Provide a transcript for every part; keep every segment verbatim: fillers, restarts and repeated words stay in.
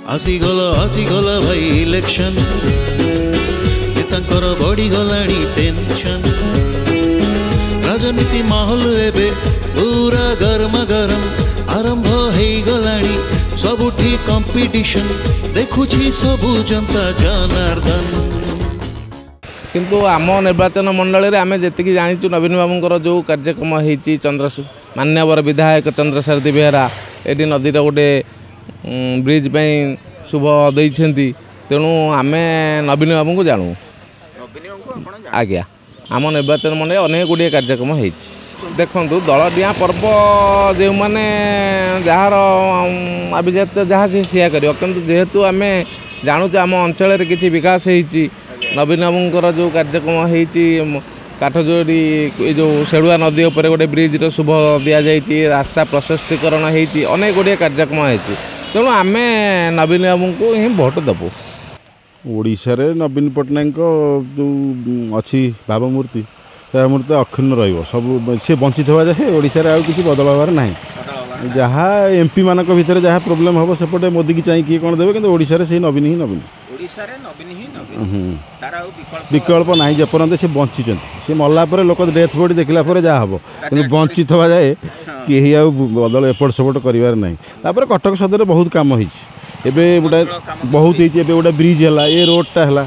ଆସିଗଲା ଆସିଗଲା ଭାଇ ଇଲେକ୍ସନ ନେତାଙ୍କର ବଢ଼ିଗଲାଣି ଟେନସନ ରାଜନୀତି ମାହୋଲ ଏବେ ପୁରା ଗରମ ଗରମ ଆରମ୍ଭ ହେଇଗଲାଣି ସବୁଠି କମ୍ପିଟିସନ ଦେଖୁଛି ସବୁ ଜନତା ଜନାର୍ଦ୍ଦନ କିନ୍ତୁ ଆମ ନିର୍ବାଚନ ମଣ୍ଡଳୀରେ ଆମେ ଯେତିକି ଜାଣିଛୁ ନବୀନ ବାବୁଙ୍କର ଯେଉଁ କାର୍ଯ୍ୟକ୍ରମ ହେଇଛି ଚନ୍ଦ୍ର ମାନ୍ୟବର ବିଧାୟକ ଚନ୍ଦ୍ରସାରଥୀ ବେହେରା ଏଠି ନଦୀର ଗୋଟେ ବ୍ରିଜ୍ ପାଇଁ ଶୁଭ ଦେଇଛନ୍ତି ତେଣୁ ଆମେ ନବୀନ ବାବୁଙ୍କୁ ଜାଣୁ ଆଜ୍ଞା ଆମ ନିର୍ବାଚନ ମଣ୍ଡଳୀ ଅନେକ ଗୁଡ଼ିଏ କାର୍ଯ୍ୟକ୍ରମ ହେଇଛି ଦେଖନ୍ତୁ ଦଳ ଡିଆଁ ପର୍ବ ଯେଉଁମାନେ ଯାହାର ଆଭିଜାତ୍ୟ ଯାହା ସେ ସେଇଆ କରିବ କିନ୍ତୁ ଯେହେତୁ ଆମେ ଜାଣୁଛୁ ଆମ ଅଞ୍ଚଳରେ କିଛି ବିକାଶ ହେଇଛି ନବୀନ ବାବୁଙ୍କର ଯେଉଁ କାର୍ଯ୍ୟକ୍ରମ ହେଇଛି କାଠଯୋଡ଼ି ଏ ଯେଉଁ ସେଡ଼ୁଆ ନଦୀ ଉପରେ ଗୋଟେ ବ୍ରିଜ୍ର ଶୁଭ ଦିଆଯାଇଛି ରାସ୍ତା ପ୍ରଶସ୍ତିକରଣ ହେଇଛି ଅନେକ ଗୁଡ଼ିଏ କାର୍ଯ୍ୟକ୍ରମ ହେଇଛି ତେଣୁ ଆମେ ନବୀନ ବାବୁଙ୍କୁ ହିଁ ଭୋଟ ଦେବୁ ଓଡ଼ିଶାରେ ନବୀନ ପଟ୍ଟନାୟକଙ୍କ ଯେଉଁ ଅଛି ଭାବମୂର୍ତ୍ତି ସେ ଭାବମୂର୍ତ୍ତି ଅକ୍ଷୁଣ୍ଣ ରହିବ ସବୁ ସେ ବଞ୍ଚିଥିବା ଯାଏ ଓଡ଼ିଶାରେ ଆଉ କିଛି ବଦଳ ହେବାର ନାହିଁ ଯାହା ଏମ୍ପି ମାନଙ୍କ ଭିତରେ ଯାହା ପ୍ରୋବ୍ଲେମ୍ ହେବ ସେପଟେ ମୋଦିକି ଚାହିଁ କିଏ କ'ଣ ଦେବେ କିନ୍ତୁ ଓଡ଼ିଶାରେ ସେଇ ନବୀନ ହିଁ ନବୀନ ଓଡ଼ିଶାରେ ନବୀନ ହିଁ ନବୀନ ତାର ଆଉ ବିକଳ୍ପ ବିକଳ୍ପ ନାହିଁ ଯେପର୍ଯ୍ୟନ୍ତ ସେ ବଞ୍ଚିଛନ୍ତି ସେ ମଲା ପରେ ଲୋକ ଡେଥ୍ ବଡି ଦେଖିଲା ପରେ ଯାହା ହେବ କିନ୍ତୁ ବଞ୍ଚିଥିବା ଯାଏ କେହି ଆଉ ବଦଳ ଏପଟ ସେପଟ କରିବାର ନାହିଁ ତାପରେ କଟକ ସଦରରେ ବହୁତ କାମ ହେଇଛି ଏବେ ଗୋଟେ ବହୁତ ହେଇଛି ଏବେ ଗୋଟେ ବ୍ରିଜ୍ ହେଲା ଏ ରୋଡ଼ଟା ହେଲା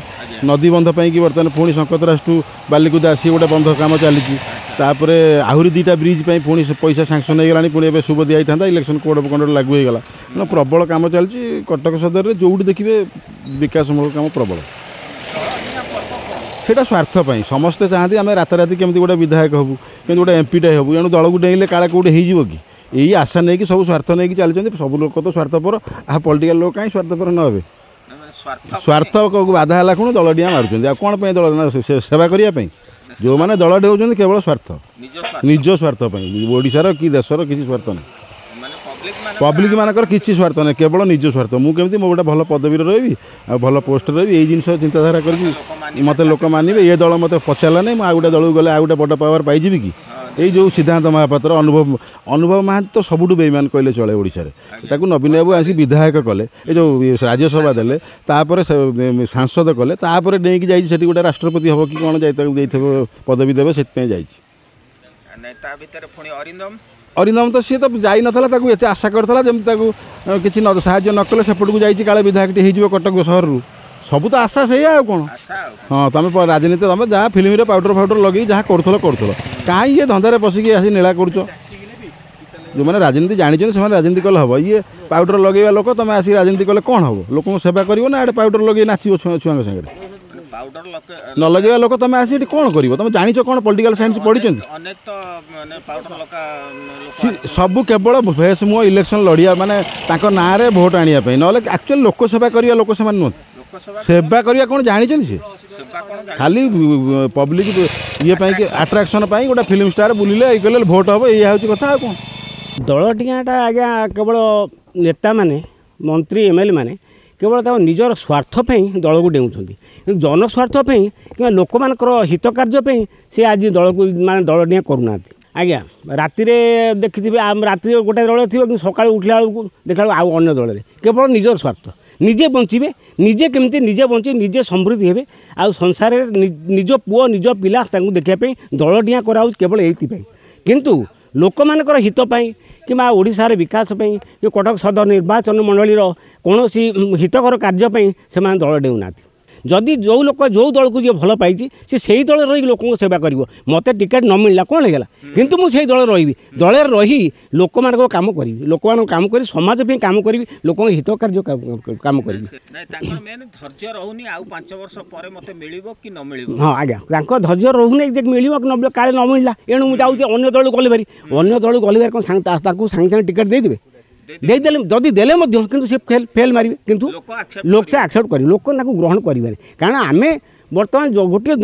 ନଦୀ ବନ୍ଧ ପାଇଁକି ବର୍ତ୍ତମାନ ପୁଣି ଶଙ୍କତରାଜଠୁ ବାଲିକୁଦା ଆସି ଗୋଟେ ବନ୍ଧ କାମ ଚାଲିଛି ତାପରେ ଆହୁରି ଦୁଇଟା ବ୍ରିଜ୍ ପାଇଁ ପୁଣି ସେ ପଇସା ସାଙ୍କସନ୍ ହେଇଗଲାଣି ପୁଣି ଏବେ ଶୁଭ ଦିଆଯାଇଥାନ୍ତା ଇଲେକ୍ସନ୍ କୋଡ଼ ଅଫ୍ କଣ୍ଡକ୍ଟ ଲାଗୁ ହେଇଗଲା ତେଣୁ ପ୍ରବଳ କାମ ଚାଲିଛି କଟକ ସଦରରେ ଯେଉଁଠି ଦେଖିବେ ବିକାଶମୂଳକ କାମ ପ୍ରବଳ ସେଇଟା ସ୍ୱାର୍ଥ ପାଇଁ ସମସ୍ତେ ଚାହାନ୍ତି ଆମେ ରାତାରାତି କେମିତି ଗୋଟେ ବିଧାୟକ ହେବୁ କେମିତି ଗୋଟେ ଏମ୍ପିଟେ ହେବୁ ଏଣୁ ଦଳକୁ ଡେଇଁଲେ କାଳେ କେଉଁଠି ହେଇଯିବ କି ଏଇ ଆଶା ନେଇକି ସବୁ ସ୍ୱାର୍ଥ ନେଇକି ଚାଲିଛନ୍ତି ସବୁ ଲୋକ ତ ସ୍ୱାର୍ଥପର ଆଉ ପଲିଟିକାଲ ଲୋକ କାହିଁ ସ୍ୱାର୍ଥପର ନ ହେବେ ସ୍ୱାର୍ଥ ବାଧା ହେଲା ଖୁଣୁ ଦଳ ଡିଆଁ ମାରୁଛନ୍ତି ଆଉ କ'ଣ ପାଇଁ ଦଳ ସେବା କରିବା ପାଇଁ ଯେଉଁମାନେ ଦଳ ଡେଉଛନ୍ତି କେବଳ ସ୍ୱାର୍ଥ ନିଜ ସ୍ୱାର୍ଥ ପାଇଁ ଓଡ଼ିଶାର କି ଦେଶର କିଛି ସ୍ୱାର୍ଥ ନାହିଁ ପବ୍ଲିକ୍ ମାନଙ୍କର କିଛି ସ୍ୱାର୍ଥ ନାହିଁ କେବଳ ନିଜ ସ୍ୱାର୍ଥ ମୁଁ କେମିତି ମୋ ଗୋଟେ ଭଲ ପଦବୀରେ ରହିବି ଆଉ ଭଲ ପୋଷ୍ଟରେ ରହିବି ଏଇ ଜିନିଷ ଚିନ୍ତାଧାରା କରିକି ମୋତେ ଲୋକ ମାନିବେ ଏ ଦଳ ମୋତେ ପଚାରିଲା ନାହିଁ ମୁଁ ଆଉ ଗୋଟେ ଦଳକୁ ଗଲେ ଆଉ ଗୋଟେ ବଡ଼ ପାୱାର ପାଇଯିବି କି ଏଇ ଯେଉଁ ସିଦ୍ଧାନ୍ତ ମହାପାତ୍ର ଅନୁଭବ ଅନୁଭବ ମହାନ୍ତି ତ ସବୁଠୁ ବେଇମାନ କହିଲେ ଚଳେ ଓଡ଼ିଶାରେ ତାକୁ ନବୀନ ବାବୁ ଆସିକି ବିଧାୟକ କଲେ ଏ ଯେଉଁ ରାଜ୍ୟସଭା ଦେଲେ ତାପରେ ସାଂସଦ କଲେ ତାପରେ ଡେଇଁକି ଯାଇଛି ସେଠି ଗୋଟେ ରାଷ୍ଟ୍ରପତି ହେବ କି କ'ଣ ଯାଇ ତାକୁ ଦେଇଥିବ ପଦବୀ ଦେବେ ସେଥିପାଇଁ ଯାଇଛି ତା ଭିତରେ ପୁଣି ଅରିନ୍ଦମ ଅରିନ୍ଦମ ତ ସିଏ ତ ଯାଇନଥିଲା ତାକୁ ଏତେ ଆଶା କରିଥିଲା ଯେମିତି ତାକୁ କିଛି ନ ସାହାଯ୍ୟ ନ କଲେ ସେପଟକୁ ଯାଇଛି କାଳେ ବିଧାୟକଟି ହେଇଯିବ କଟକ ସହରରୁ ସବୁ ତ ଆଶା ସେଇଆ ଆଉ କ'ଣ ହଁ ତୁମେ ରାଜନୀତି ତୁମେ ଯାହା ଫିଲ୍ମରେ ପାଉଡ଼ର ଫାଉଡ଼ର ଲଗେଇକି ଯାହା କରୁଥିଲ କରୁଥିଲ କାହିଁ ଇଏ ଧନ୍ଦାରେ ପଶିକି ଆସି ନୀଳା କରୁଛ ଯେଉଁମାନେ ରାଜନୀତି ଜାଣିଛନ୍ତି ସେମାନେ ରାଜନୀତି କଲେ ହେବ ଇଏ ପାଉଡ଼ର ଲଗେଇବା ଲୋକ ତୁମେ ଆସିକି ରାଜନୀତି କଲେ କ'ଣ ହେବ ଲୋକଙ୍କୁ ସେବା କରିବ ନା ଏଡ଼େ ପାଉଡ଼ର ଲଗେଇ ନାଚିବ ଛୁଆ ଛୁଆଙ୍କ ସାଙ୍ଗରେ ନ ଲଗେଇବା ଲୋକ ତୁମେ ଆସି ଏଠି କ'ଣ କରିବ ତୁମେ ଜାଣିଛ କ'ଣ ପଲିଟିକାଲ ସାଇନ୍ସ ପଢ଼ିଛନ୍ତି ସବୁ କେବଳ ଫେସ୍ ମୁହଁ ଇଲେକ୍ସନ୍ ଲଢ଼ିବା ମାନେ ତାଙ୍କ ନାଁରେ ଭୋଟ ଆଣିବା ପାଇଁ ନହେଲେ ଆକ୍ଚୁଆଲି ଲୋକ ସେବା କରିବା ଲୋକ ସେମାନେ ନୁହନ୍ତି ସେବା କରିବା କ'ଣ ଜାଣିଛନ୍ତି ସେ ଖାଲି ପବ୍ଲିକ୍ ଇଏ ପାଇଁ ଆଟ୍ରାକ୍ସନ୍ ପାଇଁ ଗୋଟେ ଫିଲ୍ମ ଷ୍ଟାର ବୁଲିଲେ ଇଏ କଲେ ଭୋଟ ହେବ ଏଇଆ ହେଉଛି କଥା ଆଉ କ'ଣ ଦଳ ଡିଆଁଟା ଆଜ୍ଞା କେବଳ ନେତାମାନେ ମନ୍ତ୍ରୀ ଏମ୍ ଏଲ୍ ଏ ମାନେ କେବଳ ତାଙ୍କ ନିଜର ସ୍ୱାର୍ଥ ପାଇଁ ଦଳକୁ ଡେଉଁଛନ୍ତି କିନ୍ତୁ ଜନସ୍ୱାର୍ଥ ପାଇଁ କିମ୍ବା ଲୋକମାନଙ୍କର ହିତ କାର୍ଯ୍ୟ ପାଇଁ ସେ ଆଜି ଦଳକୁ ମାନେ ଦଳ ଡିଆଁ କରୁନାହାନ୍ତି ଆଜ୍ଞା ରାତିରେ ଦେଖିଥିବେ ରାତିରେ ଗୋଟେ ଦଳ ଥିବ କିନ୍ତୁ ସକାଳୁ ଉଠିଲା ବେଳକୁ ଦେଖିଲା ବେଳକୁ ଆଉ ଅନ୍ୟ ଦଳରେ କେବଳ ନିଜର ସ୍ୱାର୍ଥ ନିଜେ ବଞ୍ଚିବେ ନିଜେ କେମିତି ନିଜେ ବଞ୍ଚି ନିଜେ ସମୃଦ୍ଧି ହେବେ ଆଉ ସଂସାରରେ ନିଜ ପୁଅ ନିଜ ପିଲା ତାଙ୍କୁ ଦେଖିବା ପାଇଁ ଦଳ ଡିଆଁ କରାହେଉଛି କେବଳ ଏଇଥିପାଇଁ କିନ୍ତୁ ଲୋକମାନଙ୍କର ହିତ ପାଇଁ କିମ୍ବା ଓଡ଼ିଶାର ବିକାଶ ପାଇଁ କି କଟକ ସଦର ନିର୍ବାଚନ ମଣ୍ଡଳୀର କୌଣସି ହିତକର କାର୍ଯ୍ୟ ପାଇଁ ସେମାନେ ଦଳ ଡେଉଁନାହାନ୍ତି ଯଦି ଯେଉଁ ଲୋକ ଯେଉଁ ଦଳକୁ ଯିଏ ଭଲ ପାଇଛି ସେ ସେଇ ଦଳରେ ରହିକି ଲୋକଙ୍କ ସେବା କରିବ ମୋତେ ଟିକେଟ୍ ନ ମିଳିଲା କ'ଣ ହେଇଗଲା କିନ୍ତୁ ମୁଁ ସେଇ ଦଳରେ ରହିବି ଦଳରେ ରହି ଲୋକମାନଙ୍କ କାମ କରିବି ଲୋକମାନଙ୍କ କାମ କରି ସମାଜ ପାଇଁ କାମ କରିବି ଲୋକଙ୍କ ହିତ କାର୍ଯ୍ୟ କାମ କରିବି ହଁ ଆଜ୍ଞା ତାଙ୍କ ଧୈର୍ଯ୍ୟ ରହୁନି ଯେ ମିଳିବ କି ନ ମିଳିବ କାଳେ ନ ମିଳିଲା ଏଣୁ ମୁଁ ଯାଉଛି ଅନ୍ୟ ଦଳକୁ ଗଲେ ଭାରି ଅନ୍ୟ ଦଳକୁ ଗଲେ ଭାରି କ'ଣ ତାକୁ ସାଙ୍ଗେ ସାଙ୍ଗେ ଟିକେଟ୍ ଦେଇଦେବେ ଦେଇଦେଲେ ଯଦି ଦେଲେ ମଧ୍ୟ କିନ୍ତୁ ସେ ଫେଲ୍ ଫେଲ୍ ମାରିବେ କିନ୍ତୁ ଲୋକ ସେ ଆକ୍ସେପ୍ଟ କରିବେ ଲୋକ ତାକୁ ଗ୍ରହଣ କରିବେନି କାରଣ ଆମେ ବର୍ତ୍ତମାନ ଗୋଟିଏ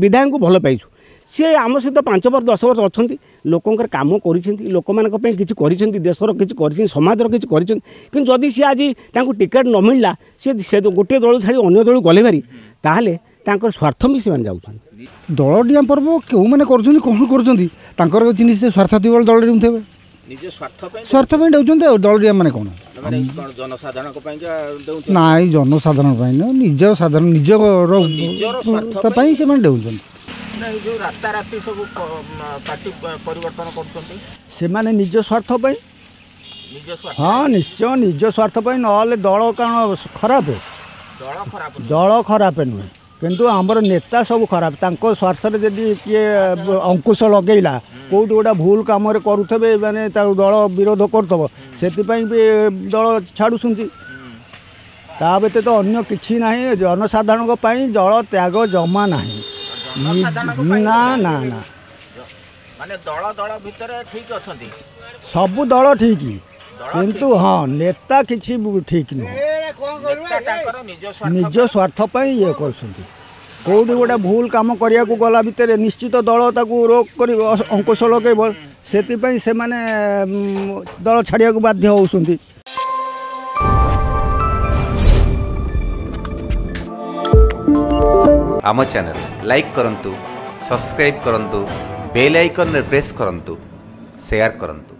ବିଧାୟକଙ୍କୁ ଭଲ ପାଇଛୁ ସିଏ ଆମ ସହିତ ପାଞ୍ଚ ବର୍ଷ ଦଶ ବର୍ଷ ଅଛନ୍ତି ଲୋକଙ୍କର କାମ କରିଛନ୍ତି ଲୋକମାନଙ୍କ ପାଇଁ କିଛି କରିଛନ୍ତି ଦେଶର କିଛି କରିଛନ୍ତି ସମାଜର କିଛି କରିଛନ୍ତି କିନ୍ତୁ ଯଦି ସିଏ ଆଜି ତାଙ୍କୁ ଟିକେଟ୍ ନ ମିଳିଲା ସିଏ ସେ ଗୋଟିଏ ଦଳକୁ ଛାଡ଼ି ଅନ୍ୟ ଦଳକୁ ଗଲେ ଭାରି ତାହେଲେ ତାଙ୍କର ସ୍ୱାର୍ଥ ବି ସେମାନେ ଯାଉଛନ୍ତି ଦଳ ଡିଆଁ ପର୍ବ କେଉଁମାନେ କରୁଛନ୍ତି କ'ଣ କରୁଛନ୍ତି ତାଙ୍କର କିଛି ନିଶ୍ଚୟ ସ୍ୱାର୍ଥ ଥିବ ଦଳ ଡେଉଁଥିବେ ନିଜ ସ୍ୱାର୍ଥ ପାଇଁ ସ୍ୱାର୍ଥ ପାଇଁ ଡେଉଛନ୍ତି। ଆଉ ଦଳ ମାନେ କ'ଣ ମାନେ କ'ଣ ଜନସାଧାରଣଙ୍କ ପାଇଁ ଦେଉଛନ୍ତି? ନାଇଁ, ଜନସାଧାରଣ ପାଇଁ ନୁହଁ, ନିଜ ସାଧାରଣ ନିଜର ନିଜର ସ୍ୱାର୍ଥ ପାଇଁ ସେମାନେ ଡେଉଛନ୍ତି। ଏଇ ଯେଉଁ ରାତାରାତି ସବୁ ପାର୍ଟି ପରିବର୍ତ୍ତନ କରୁଛନ୍ତି ସେମାନେ ନିଜ ସ୍ୱାର୍ଥ ପାଇଁ। ନିଜ ସ୍ୱାର୍ଥ? ହଁ, ନିଶ୍ଚୟ ନିଜ ସ୍ୱାର୍ଥ ପାଇଁ, ନହେଲେ ଦଳ କ'ଣ ଖରାପ? ଦଳ ଖରାପ? ଦଳ ଖରାପ ନୁହେଁ, କିନ୍ତୁ ଆମର ନେତା ସବୁ ଖରାପ। ତାଙ୍କ ସ୍ୱାର୍ଥରେ ଯଦି କିଏ ଅଙ୍କୁଶ ଲଗେଇଲା, କେଉଁଠି ଗୋଟେ ଭୁଲ କାମରେ କରୁଥିବେ, ମାନେ ତାକୁ ଦଳ ବିରୋଧ କରୁଥିବ, ସେଥିପାଇଁ ବି ଦଳ ଛାଡ଼ୁଛନ୍ତି। ତା ବ୍ୟତୀତ ଅନ୍ୟ କିଛି ନାହିଁ। ଜନସାଧାରଣଙ୍କ ପାଇଁ ଦଳ ତ୍ୟାଗ ଜମା ନାହିଁ। ନା ନା ନା, ମାନେ ଦଳ ଦଳ ଭିତରେ ଠିକ ଅଛନ୍ତି? ସବୁ ଦଳ ଠିକ, କିନ୍ତୁ ହଁ, ନେତା କିଛି ଠିକ ନୁହଁ। ନିଜ ସ୍ୱାର୍ଥ ପାଇଁ ଇଏ କରୁଛନ୍ତି। କେଉଁଠି ଗୋଟେ ଭୁଲ କାମ କରିବାକୁ ଗଲା ଭିତରେ ନିଶ୍ଚିତ ଦଳ ତାକୁ ରୋକ କରି ଅଙ୍କୁଶ ଲଗେଇବ, ସେଥିପାଇଁ ସେମାନେ ଦଳ ଛାଡ଼ିବାକୁ ବାଧ୍ୟ ହେଉଛନ୍ତି। ଆମ ଚ୍ୟାନେଲ୍ ଲାଇକ୍ କରନ୍ତୁ, ସବସ୍କ୍ରାଇବ୍ କରନ୍ତୁ, ବେଲ୍ ଆଇକନ୍ରେ ପ୍ରେସ୍ କରନ୍ତୁ, ସେୟାର କରନ୍ତୁ।